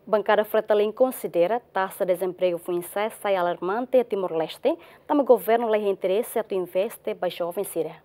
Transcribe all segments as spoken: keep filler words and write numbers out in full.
Bankada Fretilin konsidera taxa dezempregu foin-sa'e sai alarmante iha Timor-Leste, tanba governu la iha interese atu investe ba joven sira.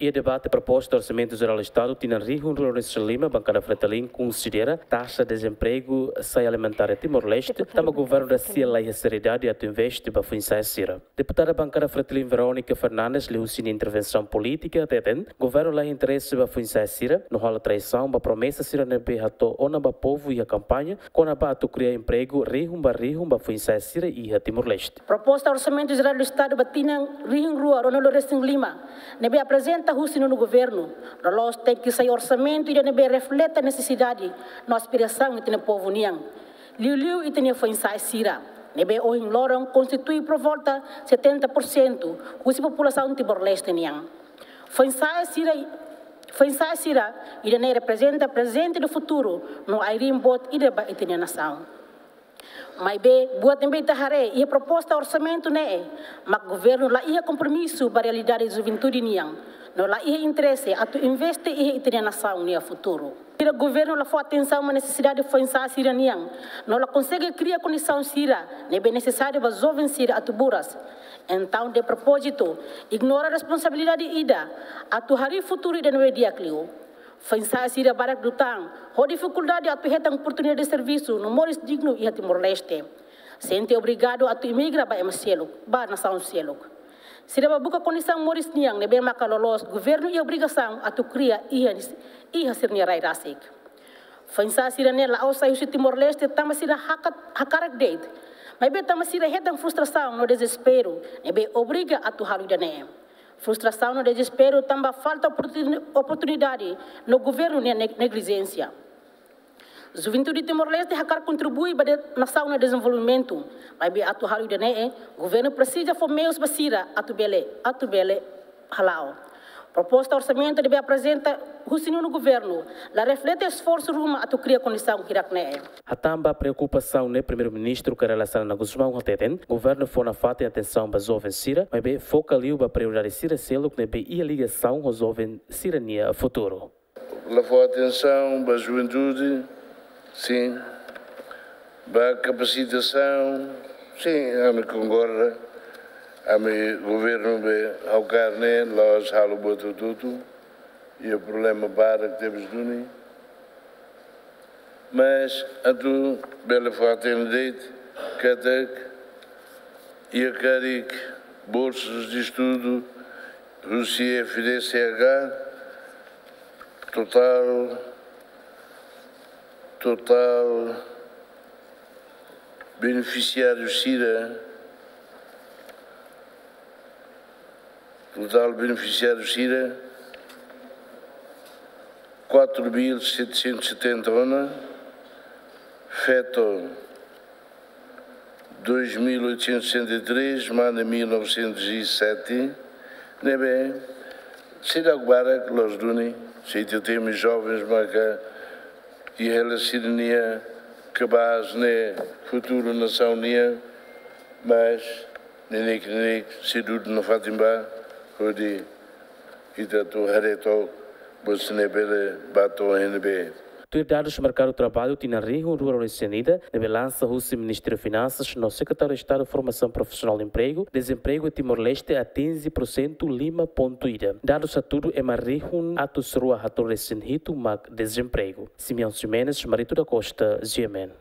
Iha debate proposta Orsamentu Jerál Estadu tinan rihun rua ruanulu-resin-lima, Bankada Fretilin konsidera taxa dezempregu sai alarmante iha Timor-Leste, tanba governu rasik la iha seriedade atu investe ba foin-sa'e sira. Deputada Bankada Fretilin Verónica Fernandes liuhusi nia intervensaun polítika hateten, governu la iha interese ba foin-sa'e sira, no halo traisaun ba promesa sira ne'ebé hato'o ona ba povu iha kampaña, kona-ba atu kria empregu rihun ba rihun ba foin-sa'e sira iha Timor-Leste. Proposta Orsamentu Jerál do Estadu ba tinan rihun rua ruanulu-resin-lima, ne'ebé aprezenta husi nonu governu, loloos tenke sai orsamentu ida ne'ebé reflete nesesidade no aspirasaun ita-nia povu nian. Liuliu ita-nia foin-sa'e sira, ne'ebé ohin loron konstitui por volta setenta por cento husi populasaun Timor-Leste nian. Foin-sa'e sira, foin-sa'e sira ida-ne'e reprezenta prezente no futuru, no aireen boot ida ba ita-nia nasaun. Maibé, buat ne'ebé ita haree iha proposta orsamentu ne'e, mak governu la iha kompromisu ba realidade juventude nian, no la iha interese atu investe iha ita-nia nasaun nia futuru. Sira governu la fó atensaun ba nesesidade foin-sa'e sira nian, no la konsege kria kondisaun sira ne'ebé nesesáriu ba joven sira atu buras. Entaun, de propózitu, ignora responsabilidade ida atu harii futuru ida ne'ebé di'ak liu. Foin-sa'e sira barak liután ho difikuldade atu hetan oportunidade de servisu no moris dignu iha Timor-Leste. Sente obrigadu atu emigra ba ema seluk, ba nasaun seluk. Sira bá buka kondisaun moris nian ne'ebé maka loloos governu iha obrigasaun atu kria iha, iha sira-nia rai rasik. Foin-sa'e sira-ne'e la'ós sai husi Timor-Leste tanba sira hakat-, hakarak de'it. Maibé tanba sira hetan frustrasaun no dezesperu ne'ebé obriga atu halo ida-ne'e. Frustrasaun no dezesperu tanba falta oportuni-, oportunidade no governu nia neg-, neglijénsia. Juventude Timor-Leste hakarak kontribui ba de-, nasaun nia dezenvolvimentu, maibé atu halo ida-ne'e, governu presiza fó meius ba sira atu bele, atu bele hala'o. Proposta orsamentu ne'ebé aprezenta husi nonu governu la reflete esforsu ruma atu kria kondisaun hirak-ne'e. Hatán ba preokupasaun ne'e, Primeiru-Ministru Kay Rala Xanana Gusmão hateten, governu fó nafatin atensaun ba joven sira, maibé foka liu ba prioridade sira seluk ne'ebé iha ligasaun ho joven sira-nia futuru. La fó atensaun ba juventude, sin. Ba kapasitasaun, sin, ami konkorda. Ami governu be ha'u karne, la'ós halo buat hotu-hotu. Iha problema barak tebes duni. Mas atu bele fó hatene de'it katak iha karik bolsas de estudu husi F D C H, totál, totál benefisiáriu sira, totál benefisiáriu sira, quatro mil setecentos e setenta ona, feto dois mil oitocentos e sessenta e três, mane mil novecentos e sete, ne'ebé seidauk barak loos duni, se ita temi jovens maka iha hela sira-nia kabas ne'e futuru nasaun nian, mas neineik-neineik sei dudu nafatin ba, hodi ita atu haree took buat sira-ne'e bele bá to'o iha ne'ebé. Tuir dadus merkadu traballu tinan rihun rua ruanulu-resin-ida, ne'ebé lansa husi Ministériu Finansas no Sekretáriu Estadu Formasaun Profisionál no Empregu, dezempregu iha Timor-Leste atinje porsentu lima pontu ida. Dadus hatudu ema rihun atus rua haatnulu-resin-hitu mak dezempregu. Simeão Ximenes, Marito da Costa, G M N.